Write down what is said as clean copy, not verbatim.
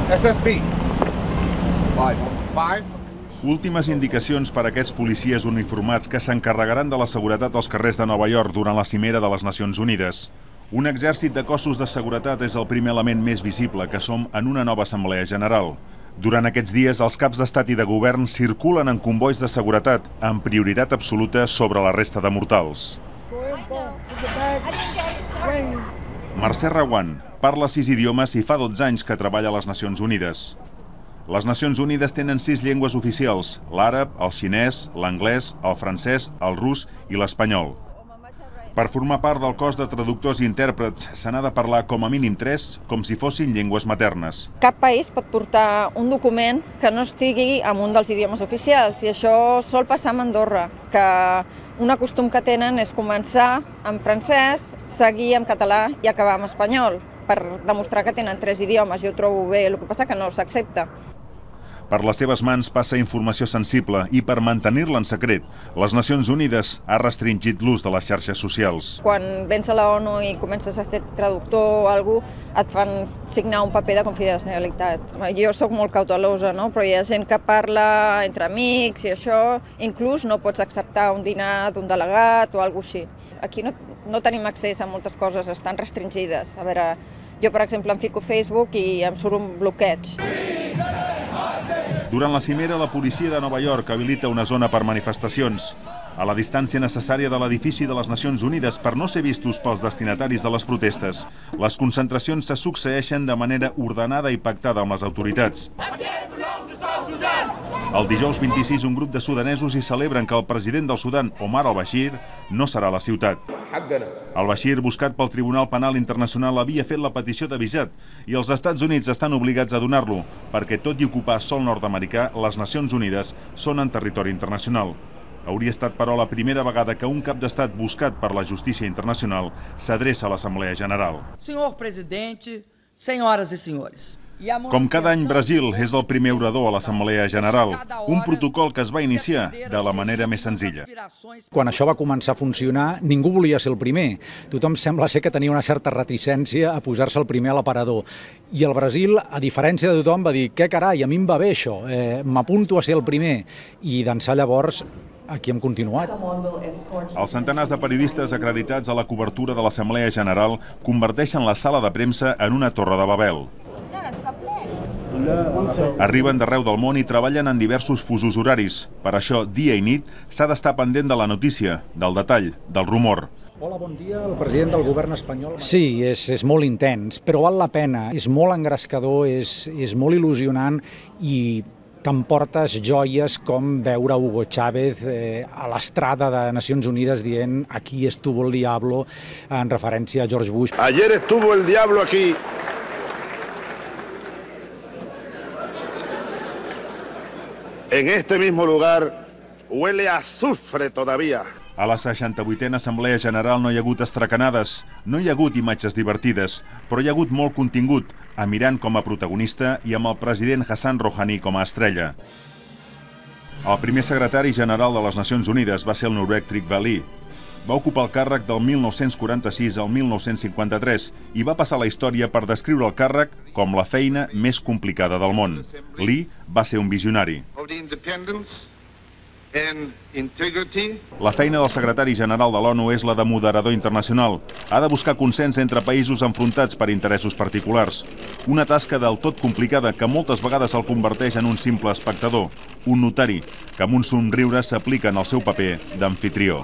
SSB. 5. Últimes indicacions per a aquests policies uniformats que s'encarregaran de la seguretat als carrers de Nova York durant la cimera de les Nacions Unides. Un exèrcit de cossos de seguretat és el primer element més visible que som en una nova Assemblea General. Durant aquests dies, els caps d'estat i de govern circulen en convois de seguretat, amb prioritat absoluta sobre la resta de mortals. Mercè Reguant parla 6 idiomes i fa 12 anys que treballa a les Nacions Unides. Les Nacions Unides tenen 6 llengües oficials: l'àrab, el xinès, l'anglès, el francès, el rus i l'espanyol. Per formar part del cos de traductors i intèrprets se n'ha de parlar com a mínim 3, com si fossin llengües maternes. Cap país pot portar un document que no estigui en un dels idiomes oficials, i això sol passar a Andorra, que un costum que tenen és començar en francès, seguir en català i acabar en espanyol, per demostrar que tenen 3 idiomes. Jo ho trobo bé, el que passa que no s'accepta. Per les seves mans passa informació sensible i per mantenir-la en secret, les Nacions Unides ha restringit l'ús de les xarxes socials. Quan vens a la ONU i comences a ser traductor o alguna cosa, et fan signar un paper de confidencialitat. Jo sóc molt cautelosa, no? Però hi ha gent que parla entre amics i això, inclús no pots acceptar un dinar d'un delegat o alguna cosa així. Aquí no tenim accés a moltes coses, estan restringides. A veure, jo per exemple em fico a Facebook i em surt un bloqueig. Durant la cimera, la policia de Nova York habilita una zona per manifestacions, a la distància necessària de l'edifici de les Nacions Unides per no ser vistos pels destinataris de les protestes. Les concentracions se succeeixen de manera ordenada i pactada amb les autoritats. El dijous 26, un grup de sudanesos hi celebren que el president del Sudan, Omar al-Bashir, no serà a la ciutat. Al-Bashir, buscat pel Tribunal Penal Internacional, havia fet la petició de visat i els Estats Units estan obligats a donar-lo, perquè tot i ocupar sòl nord-americà, les Nacions Unides són en territori internacional. Hauria estat, però, la primera vegada que un cap d'estat buscat per la justícia internacional s'adreça a l'Assemblea General. Senyor presidente, senyores i senyors. Com cada any, Brasil és el primer orador a l'Assemblea General, un protocol que es va iniciar de la manera més senzilla. Quan això va començar a funcionar, ningú volia ser el primer. Tothom sembla ser que tenia una certa reticència a posar-se el primer a l'aparador. I el Brasil, a diferència de tothom, va dir: què carai, a mi em va bé això, m'apunto a ser el primer. I d'ençà llavors aquí hem continuat. Els centenars de periodistes acreditats a la cobertura de l'Assemblea General converteixen la sala de premsa en una torre de Babel. Arriben d'arreu del món i treballen en diversos fusos horaris. Per això, dia i nit, s'ha d'estar pendent de la notícia, del detall, del rumor. Hola, bon dia, el president del govern espanyol. Sí, és molt intens, però val la pena. És molt engrescador, és molt il·lusionant i t'emportes joies com veure Hugo Chávez a l'estrada de Nacions Unides dient «Aquí estuvo el diablo», en referència a George Bush. Ayer estuvo el diablo aquí. En este mismo lugar huele a azufre todavía. A la 68a Assemblea General no hi ha hagut estracanades, no hi ha hagut imatges divertides, però hi ha hagut molt contingut, amb Iran com a protagonista i amb el president Hassan Rouhani com a estrella. El primer secretari general de les Nacions Unides va ser el noruec Trygve Lie. Va ocupar el càrrec del 1946 al 1953 i va passar a la història per descriure el càrrec com la feina més complicada del món. Lie va ser un visionari. La feina del secretari general de l'ONU és la de moderador internacional. Ha de buscar consens entre països enfrontats per interessos particulars. Una tasca del tot complicada que moltes vegades el converteix en un simple espectador, un notari, que amb un somriure s'aplica en el seu paper d'amfitrió.